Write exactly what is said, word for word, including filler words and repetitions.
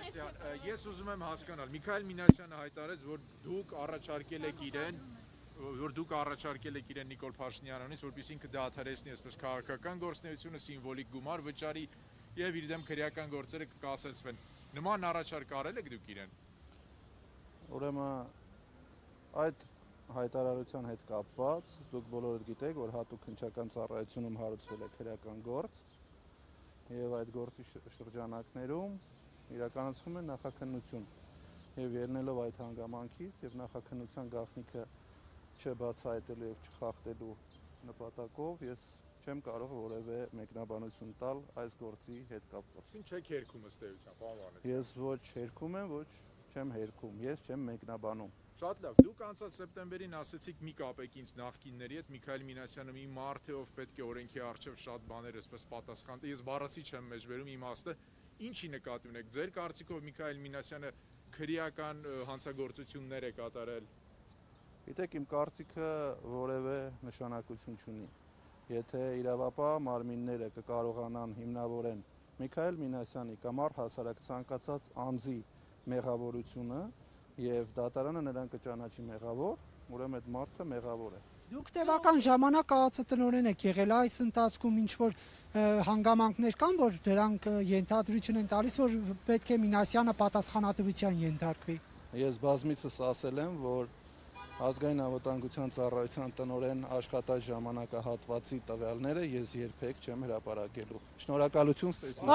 Մինասյան, ես ուզում եմ հասկանալ, Միքայել Մինասյանը հայտարարեց, որ դուք առաջարկել եք իրեն, որ դուք առաջարկել եք իրեն Նիկոլ Փաշինյանից, որպեսզի ինքը դադարեցնի այսպես քաղաքական գործունեությունը, սիմվոլիկ գումար վճարի եւ իր դեմ քրեական գործերը կկասեցվեն։ Նման առաջարկ արել եք դուք իրեն։ Ուրեմն այդ հայտարարության հետ կապված դուք բոլորդ գիտեք, որ հատուկ քննչական ծառայությունում հարուցվել է քրեական գործ եւ այդ գործի շրջանակներում իրականացվում է նախաքննություն եւ ելնելով այդ հանգամանքից եւ նախաքննության գաղտնիքը չբացահայտելու եւ չխախտելու նպատակով ես չեմ կարող որևէ մեկնաբանություն տալ այս գործի հետ կապված։ Ինչ չեք հերքում ըստ էության, պարոն Վանեսյան։ Ես ոչ հերքում եմ, ոչ չեմ հերքում, ես չեմ մեկնաբանում։ Շատ լավ, դուք անցած սեպտեմբերին ասացիք մի կապեք ինձ նախկինների հետ, Միքայել Մինասյանը մի մարդ է, ով պետք է օրենքի առջև շատ բաներ այսպես պատասխան տա։ Ես բառացի չեմ մեջբերում իմաստը, ինչի նկատի ունեք։ Ձեր կարծիքով Միքայել Մինասյանը քրեական հանցագործություններ է կատարել։ Գիտեք, իմ կարծիքը որևէ նշանակություն չունի։ Եթե իրավապահ մարմինները կկարողանան հիմնավորեն Միքայել Մինասյանի կամ առհասարակ ցանկացած անձի մեղավորությունը եւ դատարանը նրան կճանաչի մեղավոր, ուրեմն այդ մարդը մեղավոր է։ Դուք տևական ժամանակ կայացատնօրեն եք եղել, այս ընթացքում ինչ որ հանգամանքներ կան, որ դրանք ենթադրություն են տալիս, որ պետք է Մինասյանը պատասխանատվության ենթարկվի։ Ես բազմիցս ասել եմ, որ Ազգային անվտանգության ծառայության տնօրեն աշխատած ժամանակահատվածի տվյալները ես երբեք չեմ հրապարակելու։ Շնորհակալություն ստեսին։